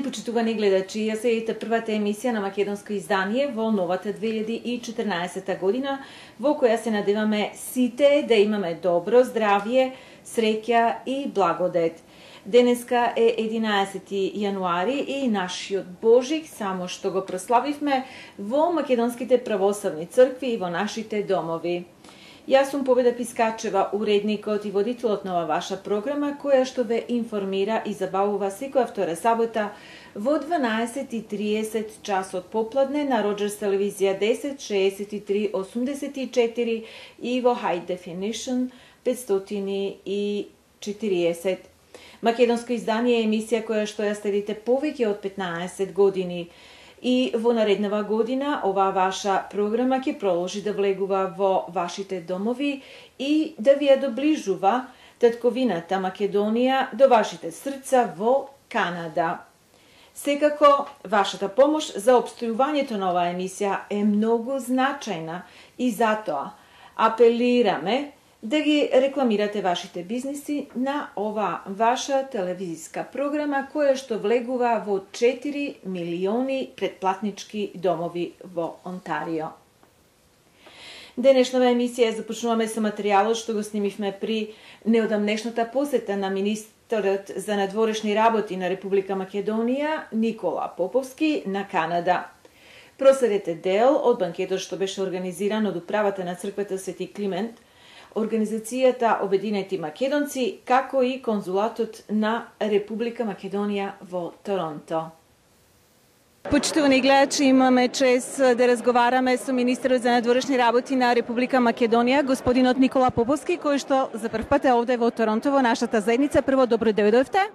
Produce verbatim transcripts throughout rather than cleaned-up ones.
почитувани гледачи, ја следите првата емисија на македонско издание во новата две илјади и четрнаесетта година, во која се надеваме сите да имаме добро здравје, среќа и благодет. Денеска е единаесети јануари и нашиот Божик само што го прославивме во македонските православни цркви и во нашите домови. Јас сум Победа Пискачева, уредникот и водителот на ова ваша програма, која што ве информира и забавува секоја втора сабота во дванаесет и триесет часот попладне на Роџерс телевизија десет шеесет и три осумдесет и четири и во High Definition петстотин и четириесет. Македонско издание е емисија која што ја следите повеќе од петнаесет години. И во нареднава година оваа ваша програма ќе продолжи да влегува во вашите домови и да ви ја доближува татковината Македонија до вашите срца во Канада. Секако, вашата помош за опстојувањето на оваа емисија е многу значајна и затоа апелираме да ги рекламирате вашите бизниси на ова ваша телевизиска програма која што влегува во четири милиони претплатнички домови во Онтарио. Денешнава емисија започнуваме со материјалот што го снимивме при неодамнешната посета на министерот за надворешни работи на Република Македонија Никола Поповски на Канада. Проследете дел од банкетот што беше организиран од управата на црквата Свети Климент, Организацијата Обединети македонци, како и конзулатот на Република Македонија во Торонто. Почитувани гледачи, имаме чест да разговараме со министерот за надворешни работи на Република Македонија, господинот Никола Поповски, кој што за прв пат е овде во Торонто во нашата заедница. Прво, добро дојдовте.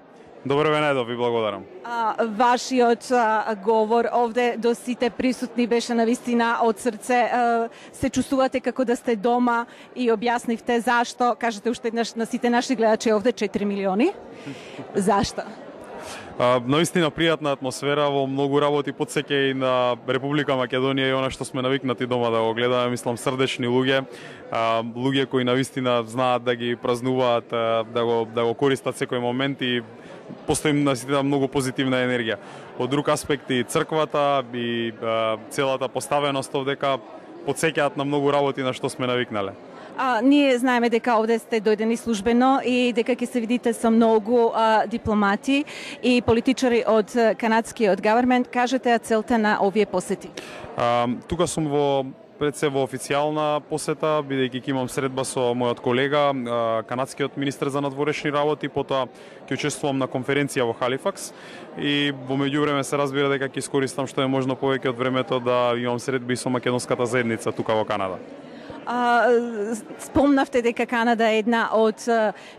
Добро ве најдов, ви благодарам. А, вашиот а, говор овде до сите присутни беше навистина од срце. А, се чувствувате како да сте дома и објаснивте зашто, кажете уште еднаш на сите наши гледачи овде четири милиони. Зашто? А, наистина пријатна атмосфера, во многу работи потсеќа и на Република Македонија и она што сме навикнати дома да го гледаме, мислам срдечни луѓе, а, луѓе кои навистина знаат да ги празнуваат, а, да го да го користат секој момент и постои наистина многу позитивна енергија. Од друг аспект и црквата и а, целата поставеност овдека потсеќаат на многу работи на што сме навикнале. А, ние знаеме дека овде сте дојдени службено и дека ќе се видите со многу а, дипломати и политичари од канадскиот говермент. Кажете целта на овие посети. А, тука сум во пред се во официјална посета, бидејќи ќе имам средба со мојот колега, канадскиот министер за надворешни работи, потоа ќе учествувам на конференција во Халифакс и во меѓувреме се разбира дека ќе искористам што е можно повеќе од времето да имам средби со македонската заедница тука во Канада. А, спомнавте дека Канада е една од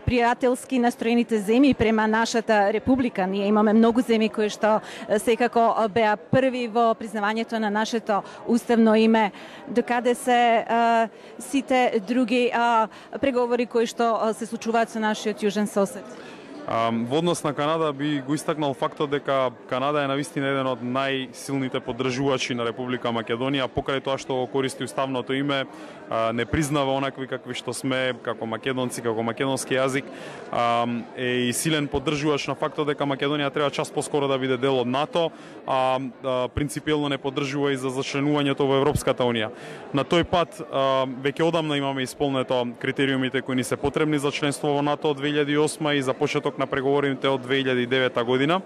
пријателски настроените земји према нашата република. Ние имаме многу земји кои што секако беа први во признавањето на нашето уставно име, докаде се а, сите други а, преговори кои што се случуваат со нашиот јужен сосед. Во однос на Канада би го истакнал фактот дека Канада е навистина еден од најсилните поддржувачи на Република Македонија, покрај тоа што го користи уставното име, не признава онакви какви што сме, како македонци, како македонски јазик, е и силен поддржувач на фактот дека Македонија треба час поскоро да биде дел од НАТО, а принципиелно не поддржува и за зачленувањето во Европската унија. На тој пат веќе одамна имаме исполнето критериумите кои ни се потребни за членство во НАТО од две илјади и осма и за почеток на преговорите од две илјади и девета година.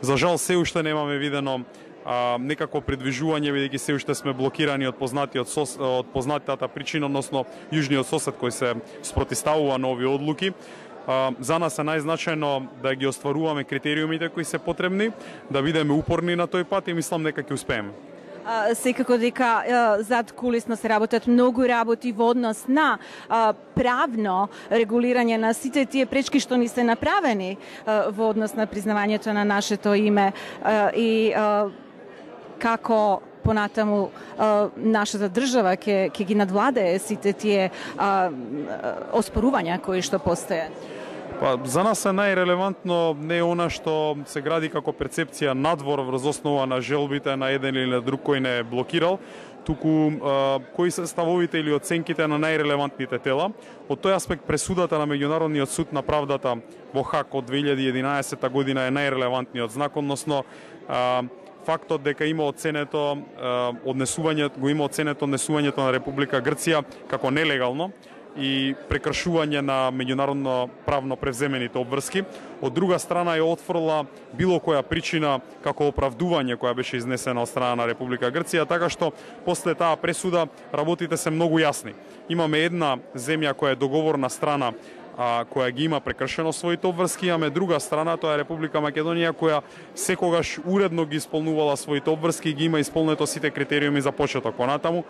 За жал се уште немаме видено а, некако придвижување, бидејќи се уште сме блокирани од познатиот сос, од познатата причина, односно јужниот сосед кој се спротивставува на овие одлуки. А, за нас е најзначајно да ги остваруваме критериумите кои се потребни, да бидеме упорни на тој пат и мислам дека ќе успееме. А, секако дека а, зад кулисно се работат многу работи во однос на а, правно регулирање на сите тие пречки што ни се направени а, во однос на признавањето на нашето име а, и а, како понатаму а, нашата држава ќе ќе ги надвладее сите тие а, оспорувања кои што постојат. Па, за нас е најрелевантно не она што се гради како перцепција надвор врз основа на желбите на еден или на друг кој не е блокирал, туку а, кои се ставовите или оценките на најрелевантните тела. Од тој аспект пресудата на Меѓународниот суд на правдата во Хаг од две илјади и единаесетта година е најрелевантниот знак, односно а, фактот дека има оценето а, однесувањето, го има оценето однесувањето на Република Грција како нелегално и прекршување на меѓународно правно превземените обврски. Од друга страна е отфрла било која причина како оправдување која беше изнесена од страна на Република Грција, така што после таа пресуда работите се многу јасни. Имаме една земја која е договорна страна, а, која ги има прекршено своите обврски, имаме друга страна, тоа е Република Македонија, која секогаш уредно ги исполнувала своите обврски и ги има исполнето сите критериуми за почеток понатаму.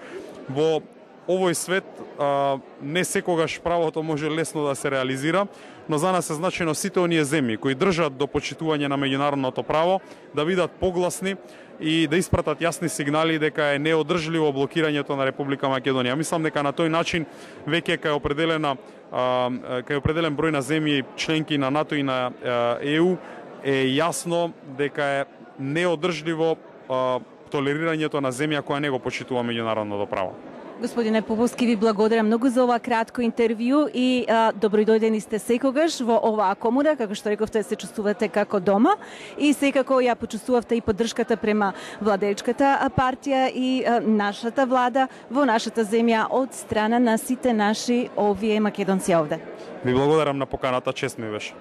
Во овој свет а, не секогаш правото може лесно да се реализира, но за нас е значено сите оние земји кои држат до почитување на меѓународното право да бидат погласни и да испратат јасни сигнали дека е неодржливо блокирањето на Република Македонија. Мислам дека на тој начин веќе кај определена кај определен број на земји членки на НАТО и на Е У е јасно дека е неодржливо толерирањето на земја која не го почитува меѓународното право. Господине Поповски, ви благодарам многу за ова кратко интервју и а, добројдојдени сте секогаш во оваа комуна, како што рековте, се чувствувате како дома и секако ја почувствувавте и поддршката према владеечката партија и а, нашата влада во нашата земја од страна на сите наши овие македонци овде. Ви благодарам на поканата, чест ми беше.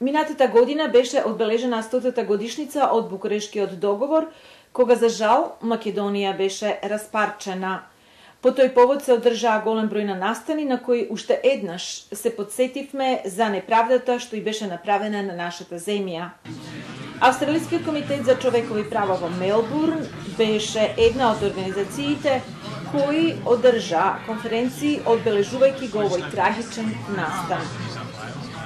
Минатата година беше одбележена стотата годишница од Букурешкиот договор, кога за жал Македонија беше распарчена. По тој повод се одржаа голем број на настани на кои уште еднаш се подсетивме за неправдата што и беше направена на нашата земја. Австралискиот комитет за човекови права во Мелбурн беше една од организациите кои одржаа конференции одбележувајќи го овој трагичен настан.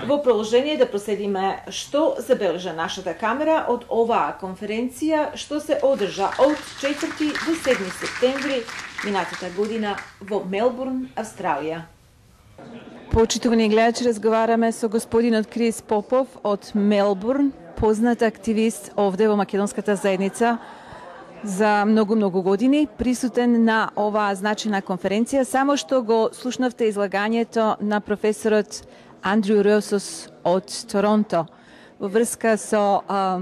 Во продолжение да проследиме што забележа нашата камера од оваа конференција што се одржа од четврти до седми септември минатата година во Мелбурн, Австралија. Почитувани гледачи, разговараме со господинот Крис Попов од Мелбурн, познат активист овде во македонската заедница за многу-многу години, присутен на оваа значајна конференција, само што го слушнавте излагањето на професорот Андрю Росос од Торонто во врска со а,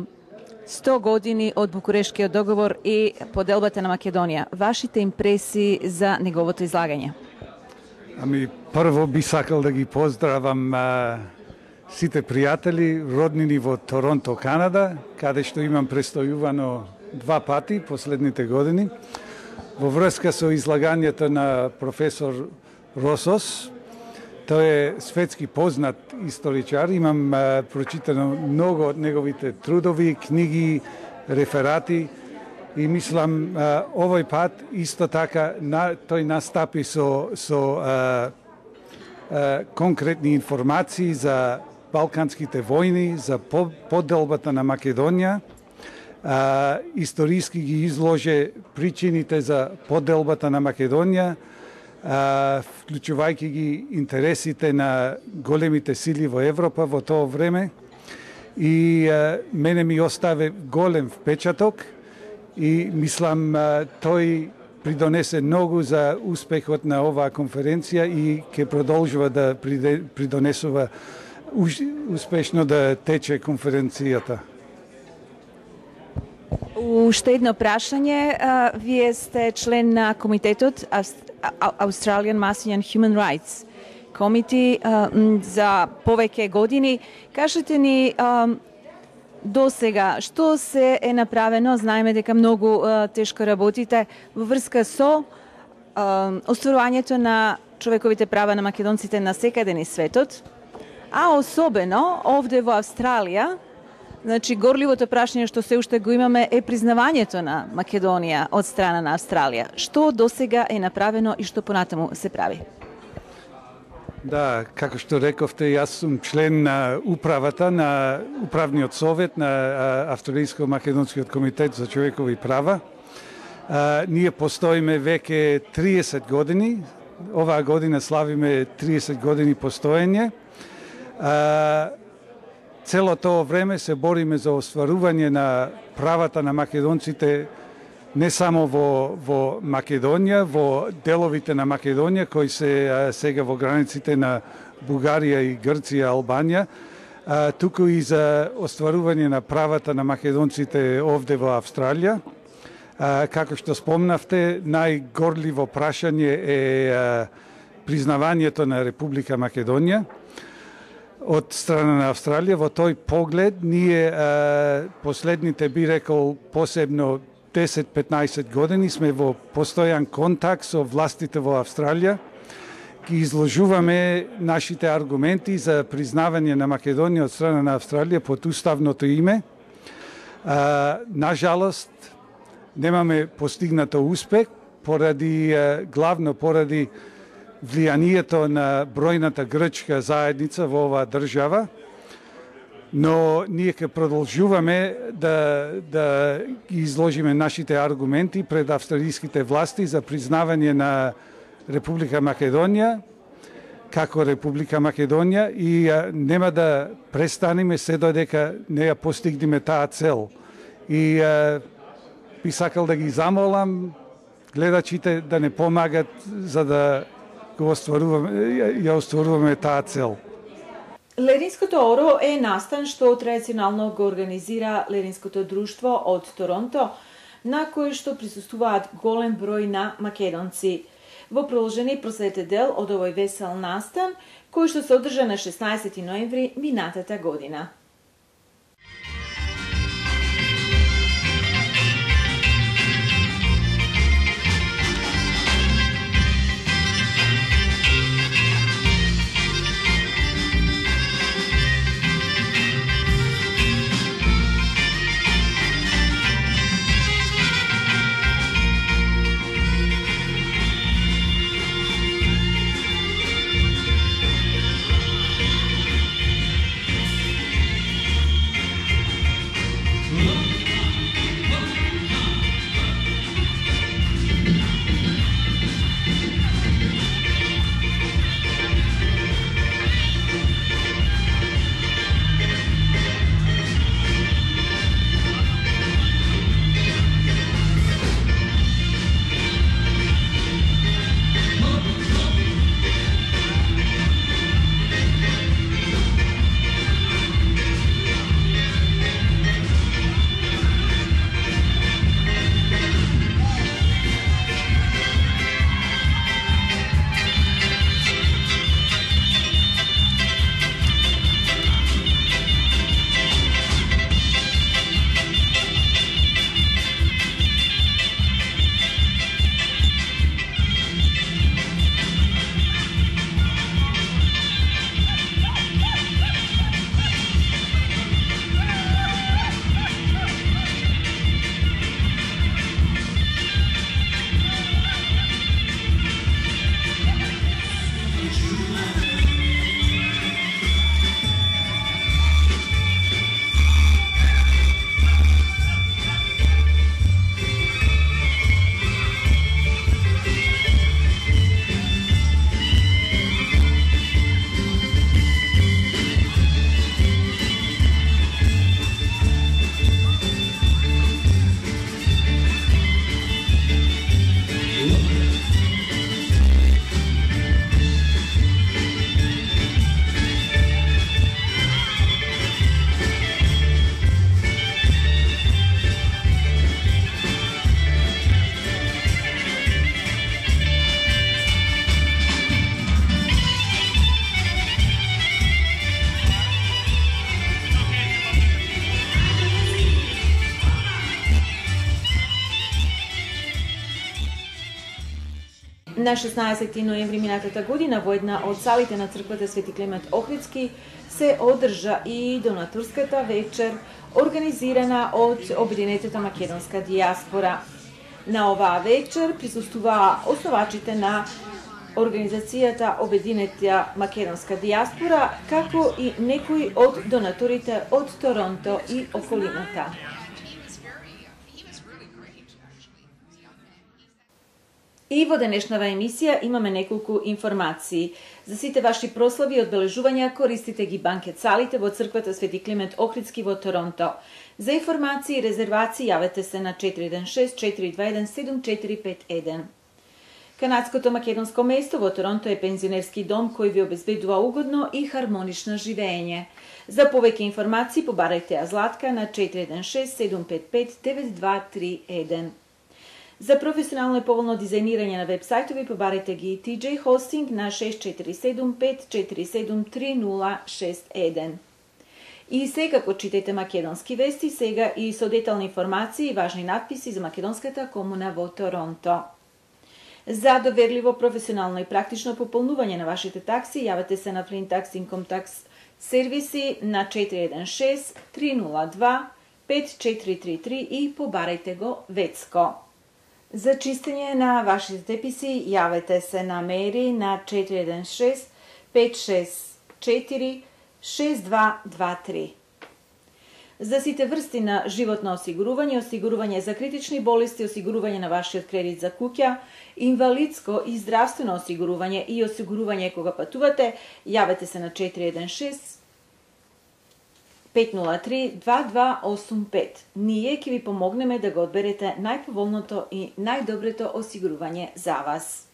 сто години од Букурешкиот договор и поделбата на Македонија. Вашите импресии за неговото излагање? Ами, прво би сакал да ги поздравам а, сите пријатели, роднини во Торонто, Канада, каде што имам престојувано два пати последните години. Во врска со излагањето на професор Росос, тој е светски познат историчар, имам а, прочитано многу од неговите трудови, книги, реферати и мислам а, овој пат исто така на, тој настапи со, со а, а, конкретни информации за балканските војни, за по, поделбата на Македонија, а, историски ги изложе причините за поделбата на Македонија, Uh, вклучувајќи ги интересите на големите сили во Европа во тоа време. И uh, мене ми остави голем впечаток и мислам uh, тој придонесе многу за успехот на оваа конференција и ќе продолжува да придонесува успешно да тече конференцијата. Уште едно прашање. Вие сте член на комитетот Australian Macedonian Human Rights Committee за повеќе години. Кажете ни до сега што се е направено? Знаеме дека многу тешко работите во врска со остварувањето на човековите права на македонците на секаде низ светот, а особено овде во Австралија. Значи, горливото прашање што се уште го имаме е признавањето на Македонија од страна на Австралија. Што досега е направено и што понатаму се прави? Да, како што рековте, јас сум член на управата, на управниот совет на Австралиско-македонскиот комитет за човекови права. А, ние постоиме веќе триесет години, Оваа година славиме триесет години постоење. Цело тоа време се бориме за остварување на правата на македонците не само во, во Македонија, во деловите на Македонија, кои се а, сега во границите на Бугарија и Грција, Албанија, а, туку и за остварување на правата на македонците овде во Австралија. А, како што спомнавте, најгорливо прашање е а, признавањето на Република Македонија од страна на Австралија. Во тој поглед, ние а, последните, би рекол, посебно десет-петнаесет години сме во постојан контакт со властите во Австралија. Ги изложуваме нашите аргументи за признавање на Македонија од страна на Австралија под уставното име. А, нажалост, немаме постигнато успех поради, главно поради влијанието на бројната грчка заедница во оваа држава, но ние ќе продолжуваме да, да ги изложиме нашите аргументи пред австралиските власти за признавање на Република Македонија како Република Македонија и а, нема да престанеме се додека не ја постигнеме таа цел. И а, би сакал да ги замолам гледачите да не помагат за да го остваруваме, ја остваруваме таа цел. Леринското оро е настан што традиционално го организира Леринското друштво од Торонто, на кој што присуствуваат голем број на македонци. Во продолжени проследете дел од овој весел настан, кој што се одржа на шеснаесети ноември минатата година. На шеснаесети ноември минатата година во една од салите на црквата Свети Климент Охридски се одржа и донатурската вечер организирана од Обединетата македонска дијаспора. На оваа вечер присуствуваа основачите на организацијата Обединета македонска дијаспора, како и некои од донаторите од Торонто и околината. И во денешнава емисија имаме неколку информации. За сите ваши прослави и одбележувања користите ги банкет салите во црквата Свети Климент Охридски во Торонто. За информации и резервации јавете се на четири еден шест четири два еден седум четири пет еден. Канадското македонско место во Торонто е пензионерски дом кој ви обезбедува угодно и хармонично живење. За повеќе информации побарајте ја Златка на четири еден шест седум пет пет девет два три еден. За професионално и поволно дизајнирање на вебсајтови побарајте ги Ти Џеј Hosting на шест четири седум пет четири седум три нула шест еден. И секако читајте македонски вести, сега и со детални информации и важни надписи за македонската комуна во Торонто. За доверливо, професионално и практично пополнување на вашите такси, јавете се на Flint Tax Income Tax сервиси на четири еден шест три нула два пет четири три три и побарајте го Вецко. За чистење на вашите теписи, јавете се на Мери на четири еден шест пет шест четири шест два два три. За сите врсти на животно осигурување, осигурување за критични болести, осигурување на вашиот кредит за куќа, инвалидско и здравствено осигурување и осигурување кога патувате, јавете се на четири еден шест пет нула три два два осум пет. Ние ќе ви помогнеме да го одберете најповолното и најдоброто осигурување за вас.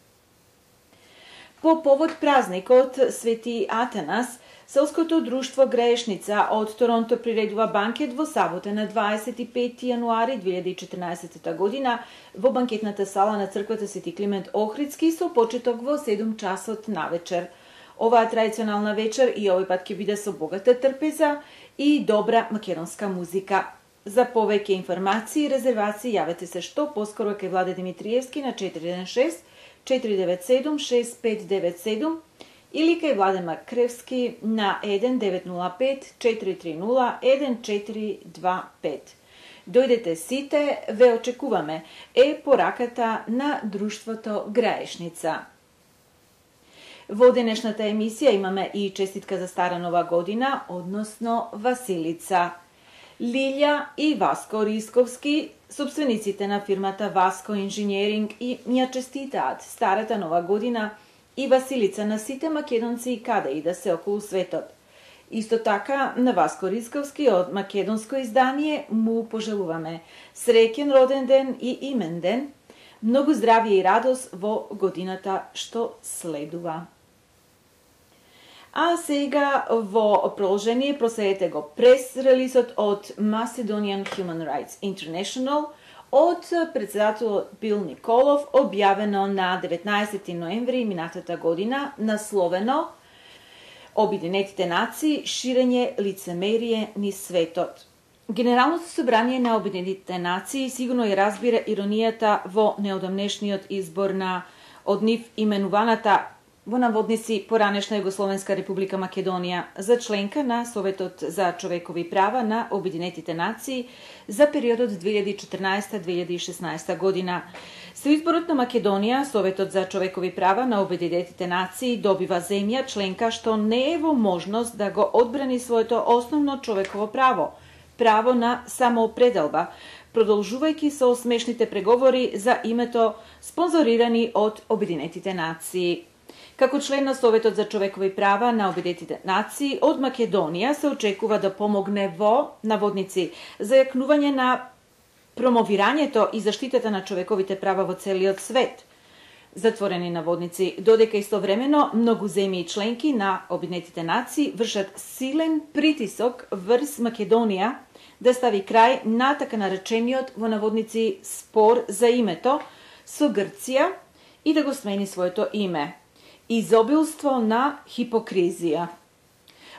По повод празникот Свети Атанас, Селското друштво Грешница од Торонто приредува банкет во сабота на дваесет и пети јануари две илјади и четрнаесетта година во банкетната сала на црквата Свети Климент Охридски со почеток во седум часот навечер. Оваа традиционална вечер и овој пат ќе биде со богата трпеза и добра македонска музика. За повеќе информации и резервации јавете се што поскоро кај Владе Димитриевски на четири еден шест четири девет седум шест пет девет седум или кај Владе Макревски на еден девет нула пет четири три нула еден четири два пет. Дојдете сите, ве очекуваме, е пораката на Друштвото Грешница. Во денешната емисија имаме и честитка за Стара Нова година, односно Василица. Лилја и Васко Рисковски, собствениците на фирмата Васко Инженеринг, и ја честитаат Старата Нова година и Василица на сите македонци каде и да се околу светот. Исто така на Васко Рисковски од македонско издание му пожелуваме среќен роден ден и имен ден, многу здравје и радост во годината што следува. А сега во продолжение проследете го прес-релизот од Macedonian Human Rights International од председателот Бил Николов, објавено на деветнаесети ноември минатата година, насловено Обединетите нации, ширење лицемерие низ светот. Генералното собрание на Обединетите нации сигурно ја разбира иронијата во неодамнешниот избор на од нив именуваната во наводници поранешна Југословенска република Македонија за членка на Советот за човекови права на Обединетите нации за периодот две илјади и четрнаесета до две илјади и шеснаесета година. Со изборот на Македонија, Советот за човекови права на Обединетите нации добива земја членка што не е во можност да го одбрани своето основно човеково право, право на самоопределба, продолжувајќи со смешните преговори за името спонзорирани од Обединетите нации. Како член на Советот за човекови права на Обединетите нации, од Македонија се очекува да помогне во наводници зајакнување на промовирањето и заштитата на човековите права во целиот свет. Затворени наводници, додека истовремено многу земји и членки на Обединетите нации вршат силен притисок врз Македонија да стави крај на така наречениот во наводници спор за името со Грција и да го смени своето име. Изобилство на хипокризија.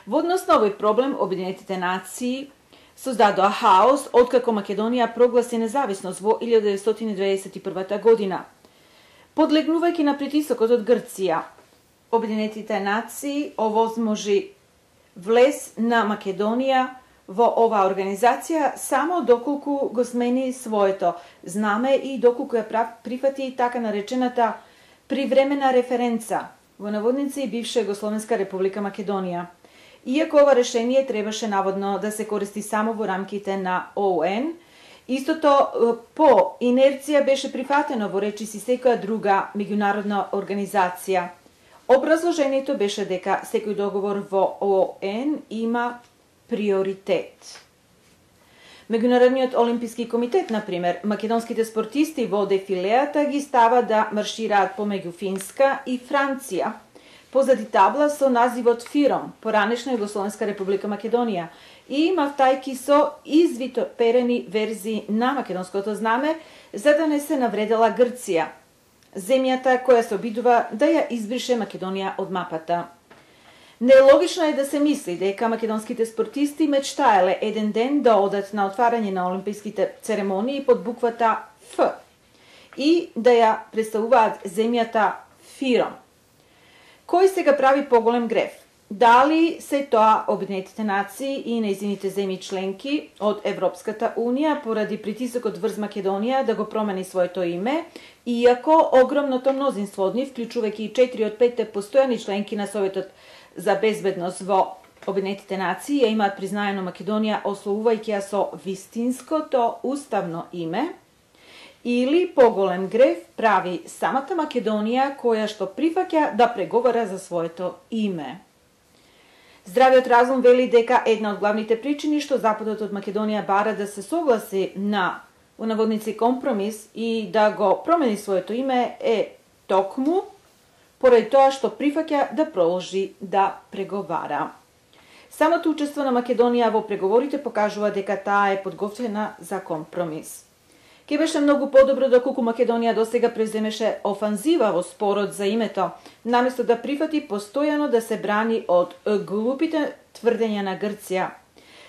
Во однос на овој проблем, Обединетите нации создадоа хаос откако Македонија прогласи независност во илјада деветстотини дваесет и прва година. Подлегнувајќи на притисокот од Грција, Обединетите нации овозможи влез на Македонија во оваа организација само доколку го смени своето знаме и доколку ја прифати така наречената привремена референца во наводници бивша Југословенска република Македонија. Иако ова решение требаше наводно да се користи само во рамките на ОУН Истото по инерција беше прифатено во речиси секоја друга меѓународна организација. Образложението беше дека секој договор во О Н има приоритет. Меѓународниот олимписки комитет, например, македонските спортисти во дефилеата ги става да маршираат помеѓу Финска и Франција, позади табла со називот Фиром, поранешна Југословенска република Македонија, и мафтајки со извитоперени верзии на македонското знаме, за да не се навредела Грција, земјата која се обидува да ја избрише Македонија од мапата. Нелогично е да се мисли дека македонските спортисти мечтаеле еден ден да одат на отварање на олимписките церемонии под буквата Ф и да ја представуваат земјата Фиром. Кој сега прави поголем греф? Дали се тоа Обединетите нации и нејзините земји членки од Европската унија поради притисокот врз Македонија да го промени своето име, иако огромното мнозинство од нив, вклучувајќи и четири од петте постојани членки на Советот за безбедност во Обединетите нации, ја имаат признаено Македонија, ословувајќи ја со вистинското уставно име, или поголем греф прави самата Македонија која што прифаќа да преговара за своето име. Здравиот разум вели дека една од главните причини што Западот од Македонија бара да се согласи на во наводници компромис и да го промени своето име е токму поради тоа што прифаќа да продолжи да преговара. Самото учество на Македонија во преговорите покажува дека таа е подготвена за компромис. Ке беше многу подобро доколку Македонија досега преземеше офанзива во спорот за името, наместо да прифати постојано да се брани од глупите тврдења на Грција.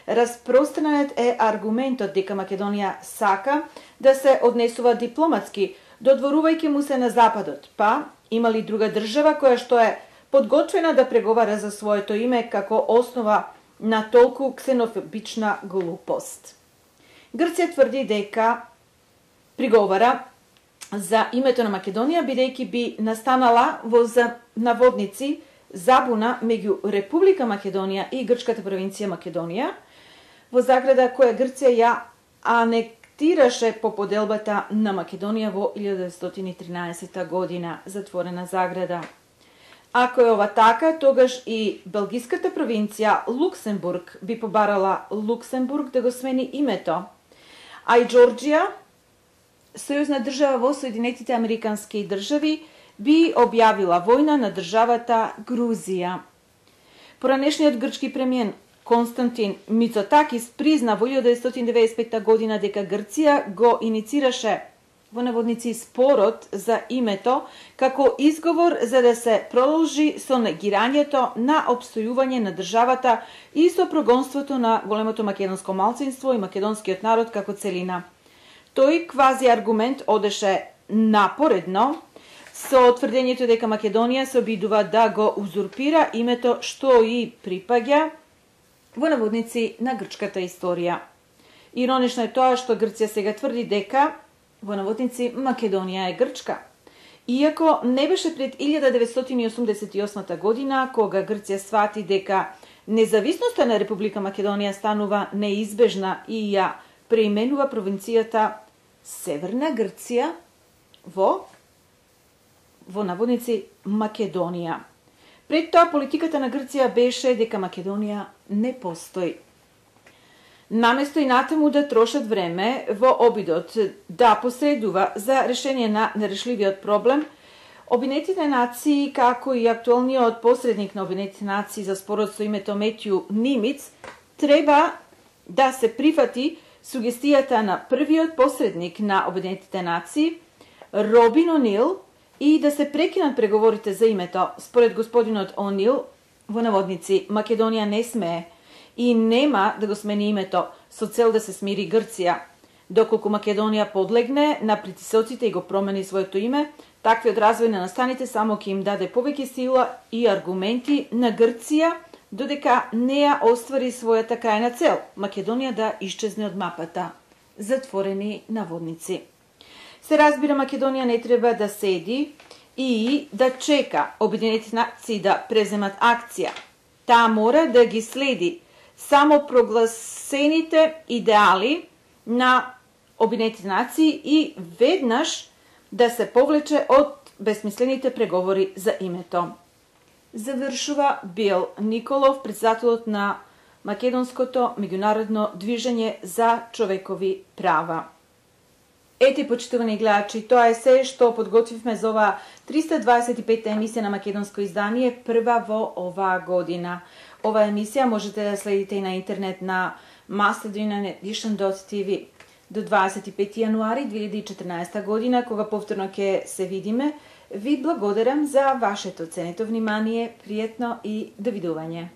Распространет е аргументот дека Македонија сака да се однесува дипломатски, додворувајќи му се на Западот, па има ли друга држава која што е подготвена да преговара за своето име како основа на толку ксенофобична глупост? Грција тврди дека приговара за името на Македонија, бидејќи би настанала во за наводници забуна меѓу Република Македонија и грчката провинција Македонија, во заграда која Грција ја анектираше по поделбата на Македонија во илјада деветстотини и тринаесетта година, затворена заграда. Ако е ова така, тогаш и белгиската провинција Луксембург би побарала Луксембург да го смени името, а и Џорџија, сојузна држава во Соединетите Американски држави, би објавила војна на државата Грузија. Поранешниот грчки премиер Константин Мицотакис призна во илјада деветстотини деветдесет и петта година дека Грција го иницираше во наводници спорот за името како изговор за да се продолжи со негирањето на обстојување на државата и со прогонството на големото македонско малцинство и македонскиот народ како целина. Тој квази аргумент одеше напоредно со тврдењето дека Македонија се обидува да го узурпира името што и припаѓа во наводници на грчката историја. Иронично е тоа што Грција сега тврди дека во наводници Македонија е грчка. Иако не беше пред илјада деветстотини осумдесет и осма година, кога Грција свати дека независноста на Република Македонија станува неизбежна и ја преименува провинцијата Северна Грција во во наводници Македонија. Пред тоа политиката на Грција беше дека Македонија не постои. Наместо и натаму да трошат време во обидот да посредува за решение на нерешливиот проблем, Обединетите нации, како и актуелниот посредник на Обединетите нации за спорот со името Метју Нимиц, треба да се прифати сугестијата на првиот посредник на Обединетите нации, Робин О'Нил, и да се прекинат преговорите за името. Според господинот О'Нил, во наводници, Македонија не смее и нема да го смени името со цел да се смири Грција. Доколку Македонија подлегне на притисоците и го промени своето име, таквиот развој на настаните само ќе им даде повеќе сила и аргументи на Грција додека не ја оствари својата крајна цел – Македонија да исчезне од мапата. Затворени наводници. Се разбира, Македонија не треба да седи и да чека Обединетите нации да преземат акција. Таа мора да ги следи само прогласените идеали на Обединетите нации и веднаш да се повлече од безсмислените преговори за името. Завршува Бил Николов, председателот на Македонското меѓународно движење за човекови права. Ете, почитувани гледачи, тоа е се што подготвивме за ова триста дваесет и пета емисија на Македонско издание, прва во оваа година. Ова емисија можете да следите и на интернет на Macedonian Edition dot t v. До дваесет и пети јануари две илјади и четрнаесета година, кога повторно ќе се видиме, ви благодарам за вашето ценето внимание, пријатно и довидување.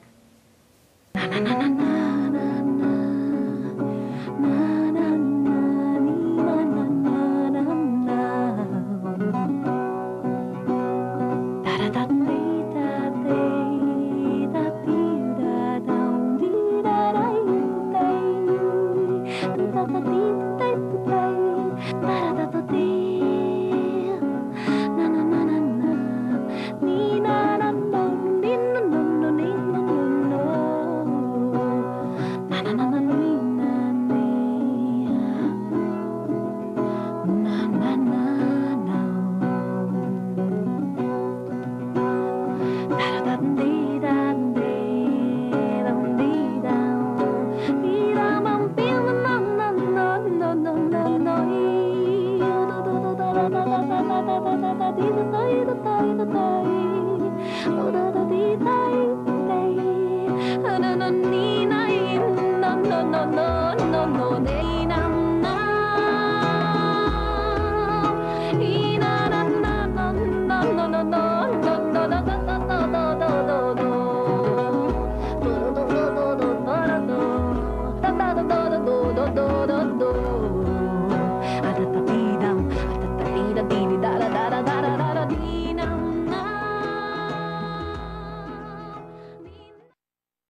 Nina